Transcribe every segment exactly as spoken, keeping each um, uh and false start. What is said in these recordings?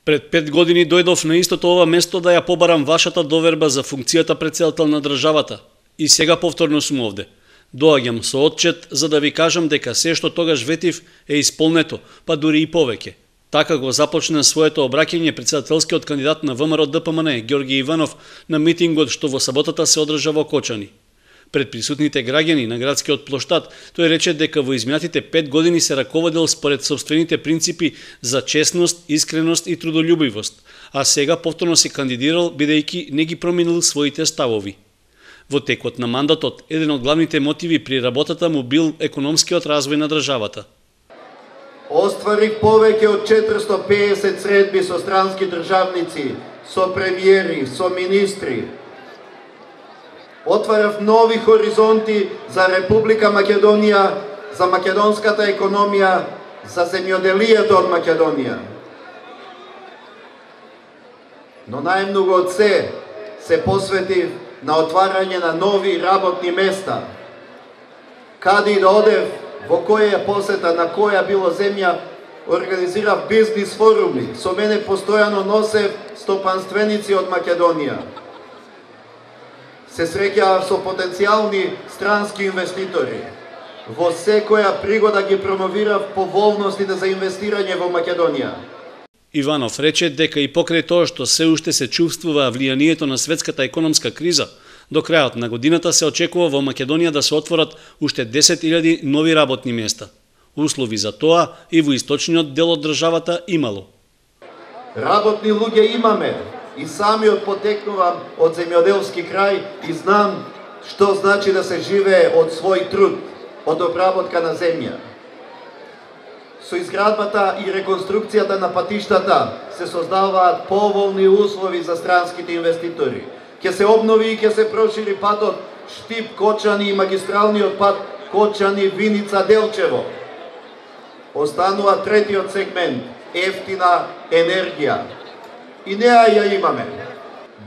Пред пет години дојдов на истото ова место да ја побарам вашата доверба за функцијата претседател на државата. И сега повторно сум овде. Доаѓам со отчет за да ви кажам дека се што тогаш ветив е исполнето, па дури и повеќе. Така го започна своето обраќање претседателскиот кандидат на ВМРО Д П М Н Ѓорги Иванов на митингот што во саботата се одржа во Кочани. Пред присутните граѓани на градскиот плоштад, тој рече дека во изминатите пет години се раководел според собствените принципи за честност, искреност и трудолюбивост, а сега повторно се кандидирал бидејќи не ги променил своите ставови. Во текот на мандатот, еден од главните мотиви при работата му бил економскиот развој на државата. Остварив повеќе од четиристо пеесет средби со странски државници, со премиери, со министри. Отварав нови хоризонти за Република Македонија, за македонската економија, за земјоделието од Македонија. Но најмногу од се се посветив на отварање на нови работни места. Каде и да одев, во која посета, на која било земја, организирав бизнис форуми. Со мене постојано носев стопанственици од Македонија. Се среќавав со потенцијални странски инвеститори. Во секоја пригода ги промовирав поволностите за инвестирање во Македонија. Иванов рече дека и покрај тоа што се уште се чувствува влијанието на светската економска криза, до крајот на годината се очекува во Македонија да се отворат уште десет илјади нови работни места. Услови за тоа и во источниот дел од државата имало. Работни луѓе имаме и самиот потекнувам од земјоделски крај и знам што значи да се живее од свој труд, од обработка на земја. Со изградбата и реконструкцијата на патиштата се создаваат поволни услови за странските инвеститори. Ќе се обнови и ќе се прошири патот Штип-Кочани и магистралниот пат Кочани-Виница-Делчево. Останува третиот сегмент – ефтина енергија. И неа ја имаме.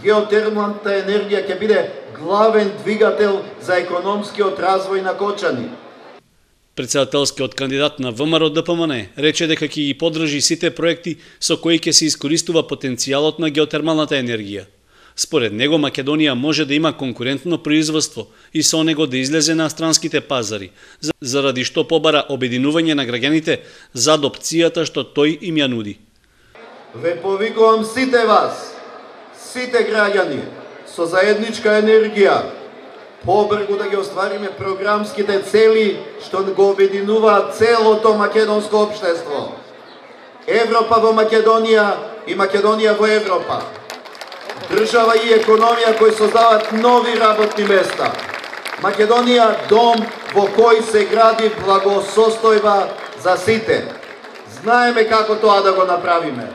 Геотермалната енергија ќе биде главен двигател за економскиот развој на Кочани. Претседателскиот кандидат на ВМРО Д П М Н рече дека ќе ги поддржи сите проекти со кои ќе се искористува потенцијалот на геотермалната енергија. Според него Македонија може да има конкурентно производство и со него да излезе на странските пазари, заради што побара обединување на граѓаните за адопцијата што тој им ја нуди. Ве повикувам сите вас, сите граѓани, со заедничка енергија, побргу да ги оствариме програмските цели што го обединуваат целото македонско општество. Европа во Македонија и Македонија во Европа. Држава и економија кои создаваат нови работни места. Македонија дом во кој се гради благосостојба за сите. Знаеме како тоа да го направиме.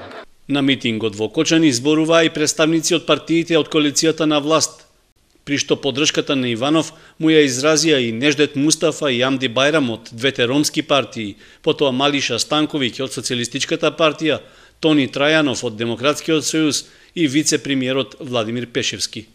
На митингот во Кочани зборуваа и представници од партиите од коалицијата на власт, при што поддршката на Иванов му ја изразија и Неждет Мустафа и Амди Бајрам од двете ромски партии, потоа Малиша Станковиќ од Социјалистичката партија, Тони Трајанов од Демократскиот сојуз и вице-премиерот Владимир Пешевски.